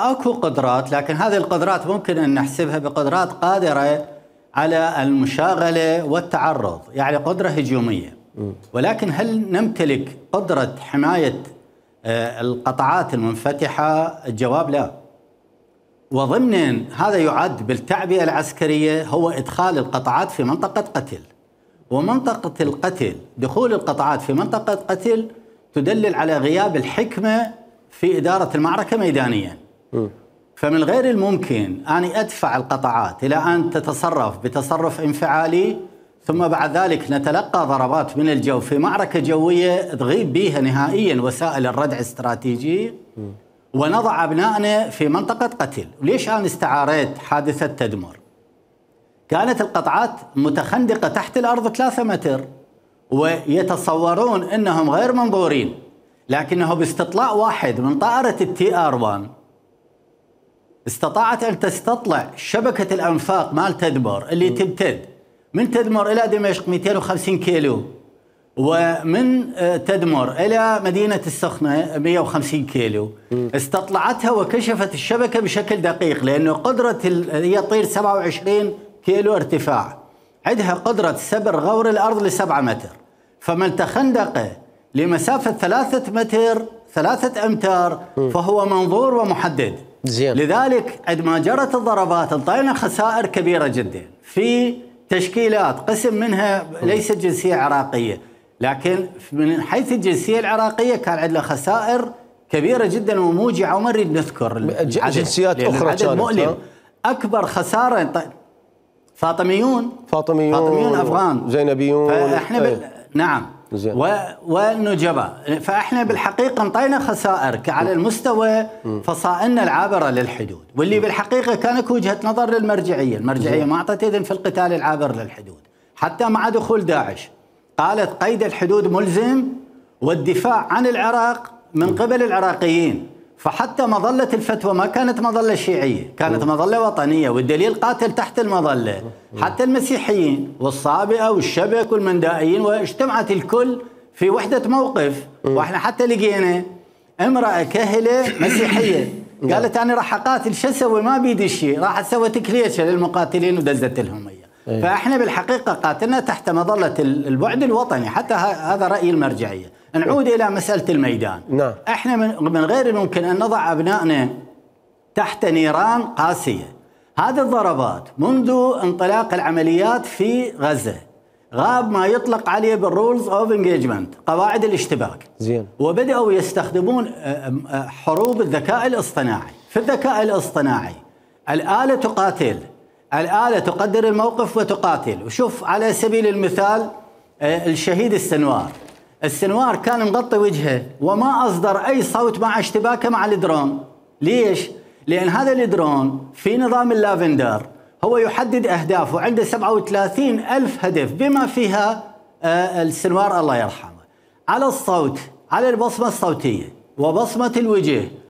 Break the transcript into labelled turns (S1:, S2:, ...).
S1: اكو قدرات، لكن هذه القدرات ممكن ان نحسبها بقدرات قادره على المشاغله والتعرض، يعني قدره هجوميه. ولكن هل نمتلك قدره حمايه القطاعات المنفتحه؟ الجواب لا. وضمن هذا يعد بالتعبئه العسكريه هو ادخال القطاعات في منطقه قتل. ومنطقه القتل، دخول القطاعات في منطقه قتل تدلل على غياب الحكمه في اداره المعركه ميدانيا. فمن غير الممكن أن أدفع القطاعات إلى أن تتصرف بتصرف انفعالي، ثم بعد ذلك نتلقى ضربات من الجو في معركة جوية تغيب بها نهائيا وسائل الردع الاستراتيجي، ونضع أبنائنا في منطقة قتل. وليش أنا استعاريت حادثة تدمر؟ كانت القطاعات متخندقة تحت الأرض 3 متر، ويتصورون أنهم غير منظورين، لكنه باستطلاع واحد من طائرة الTR-1 استطاعت أن تستطلع شبكة الأنفاق مال تدمر اللي تمتد من تدمر إلى دمشق 250 كيلو، ومن تدمر إلى مدينة السخنة 150 كيلو. استطلعتها وكشفت الشبكة بشكل دقيق، لأنه قدرة هي تطير 27 كيلو ارتفاع، عندها قدرة سبر غور الأرض ل7 متر. فمن تخندق لمسافة 3 أمتار فهو منظور ومحدد.
S2: زين.
S1: لذلك عندما جرت الضربات انطينا خسائر كبيرة جدا في تشكيلات، قسم منها ليست جنسية عراقية، لكن من حيث الجنسية العراقية كان عندنا خسائر كبيرة جدا وموجعة، وما نريد نذكر
S2: جنسيات أخرى
S1: كانت مؤلم. أكبر خسارة فاطميون أفغان،
S2: زينبيون،
S1: فإحنا نعم، والنجباء. فاحنا بالحقيقه انطينا خسائر على المستوى فصائلنا العابره للحدود، واللي بالحقيقه كانت وجهه نظر للمرجعيه، المرجعيه ما اعطت اذن في القتال العابر للحدود، حتى مع دخول داعش قالت قيد الحدود ملزم والدفاع عن العراق من قبل العراقيين. فحتى مظله الفتوى ما كانت مظله شيعيه، كانت مظله وطنيه، والدليل قاتل تحت المظله. حتى المسيحيين والصابئه والشبك والمندائيين، واجتمعت الكل في وحده موقف. واحنا حتى لقينا امراه كهله مسيحيه قالت انا راح اقاتل، شو اسوي؟ ما بيدي شيء، راح سوت كليشه للمقاتلين ودزت لهم اياه. فاحنا بالحقيقه قاتلنا تحت مظله البعد الوطني، حتى هذا راي المرجعيه. نعود الى مساله الميدان.
S2: نعم.
S1: احنا من غير الممكن ان نضع ابنائنا تحت نيران قاسيه. هذه الضربات منذ انطلاق العمليات في غزه غاب ما يطلق عليه بالرولز اوف انجيجمنت، قواعد الاشتباك.
S2: زين.
S1: وبداوا يستخدمون حروب الذكاء الاصطناعي. في الذكاء الاصطناعي الاله تقاتل، الاله تقدر الموقف وتقاتل. وشوف على سبيل المثال الشهيد السنوار كان مغطي وجهه وما أصدر أي صوت مع اشتباكه مع الدرون. ليش؟ لأن هذا الدرون في نظام اللافندر هو يحدد أهداف، وعنده 37,000 هدف بما فيها السنوار الله يرحمه. على الصوت، على البصمة الصوتية وبصمة الوجه